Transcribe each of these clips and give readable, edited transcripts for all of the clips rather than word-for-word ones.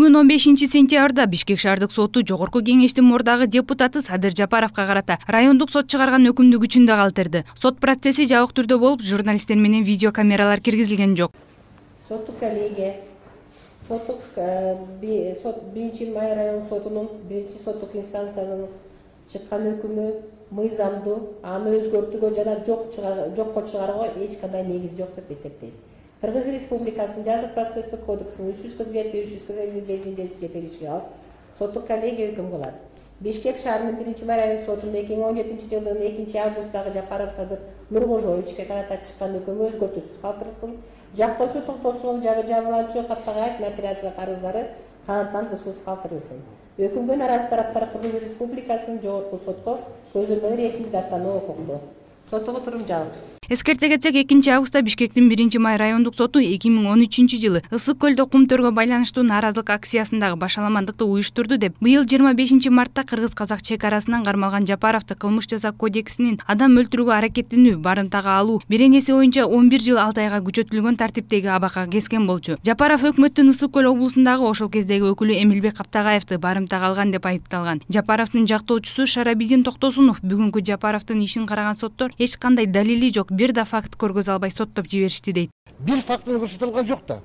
күн 15-сентябрда Бишкек шаардык соту Жогорку кеңештин мурдагы депутаты Садыр Жапаровго карата райондук сот чыгарган өкүмдү күчүндө калтырды. Сот процесси жабык түрдө болуп, журналисттер менен видеокамералар киргизилген жок. Соттук коллегия, соттук сот 1-май район сотунун 1-соттук инстанциянын чыккан өкүмү мыйзамдуу, аны өзгөртүүгө жана жокко чыгарууга эч кандай негиз жок деп эсептейт. Кыргыз Республикасынын жазык процесстик кодексинин 347-348 жетелишине алып, соттук коллегия өкүм кылат. Бишкек шаарынын 1-май район сотунда 2017 жылдын 2-августдагы Жапаров Садыр Нуркожоевичке карата чыккан өкүмү өзгөртүүсүз калтырылсын. Жактоочу токтосунун жабырлануучу каттаган айып апелляция карыздары канаттан бузуусуз калтырылсын. Өкүмгө наразы тараптар Кыргыз Республикасынын жогорку сотко көзөмөл ретинде даттануу укуктуу. Соттогу турум жабык. Эскерте кетсек, 2-августта Бишкектин 1-май райондук соту 2013 жылы Ысык көлдө кум төргө байланыштуу нааразылык акциясындагы башаламандыкты уюштурду деп, быйыл 25-мартта кыргыз-казак чек арасынан кармалган Жапаровду кылмыш жаза кодексинин адам өлтүрүүгө аракеттенүү барымтага алуу беренеси боюнча 11 жыл 6 айга күчөтүлгөн тартиптеги абакка кескен болчу. Жапаров өкмөттүн Ысык көл облусундагы ошол кездеги өкүлү Эмилбек Каптагаевди барымтага алган деп айыпталган. Жапаровдун жактоочусу Шарабидин Токтосунов бүгүнкү Жапаровдун ишин караган соттор эч кандай далили жок, бир да факт көргөзө албай соттоп жиберишти дейт. Бир фактыны көрсөтүлгөн жок да.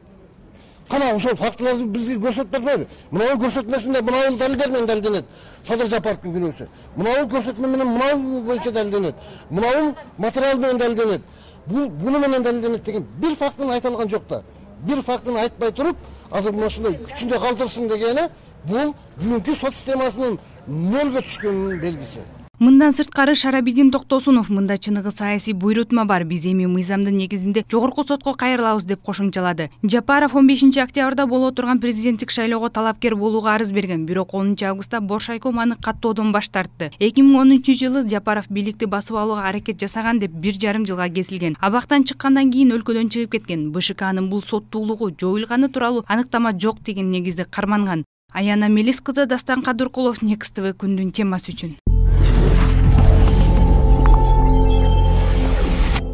Кана ошол фактыларды бизге көрсөтүп бербейби? Мынау көрсөтмөсүндө мынау далилдер менен далилденет. Садыр Жапаровдун күнөөсү. Мынау көрсөтмө менен мынау боюнча далилденет. Мынау материал менен далилденет. Буну менен далилденет деген бир фактыны айта алган жок да. Бир фактыны айтпай туруп, азыр мына ушундай күчүндө калтырсын дегени бул бүгүнкү сот системасынын нөлгө түшкөнүнүн белгиси. Мындан сырткары Шарабидин Токтосунов мында чыныгы саясий буйрутма бар, биз эми мыйзамдын негизинде жогорку сотко кайрылабыз деп кошумчалады. Жапаров 15-октябрда боло турган президенттик шайлоого талапкер болууга арыз берген, бирок 10-августта Боршайком аны каттоодон баш тартты. 2013 жылы Жапаров бийликти басып алууга аракет жасаган деп 1,5 жылга кесилген. Абактан чыккандан кийин өлкөдөн чыгып кеткен. БШКнын бул соттуулугу жоюлганы тууралуу аныктама жок деген негизде карманган. Аяна Мелис кызы, Дастан Кадыркулов, Next TV күндүн темасы үчүн.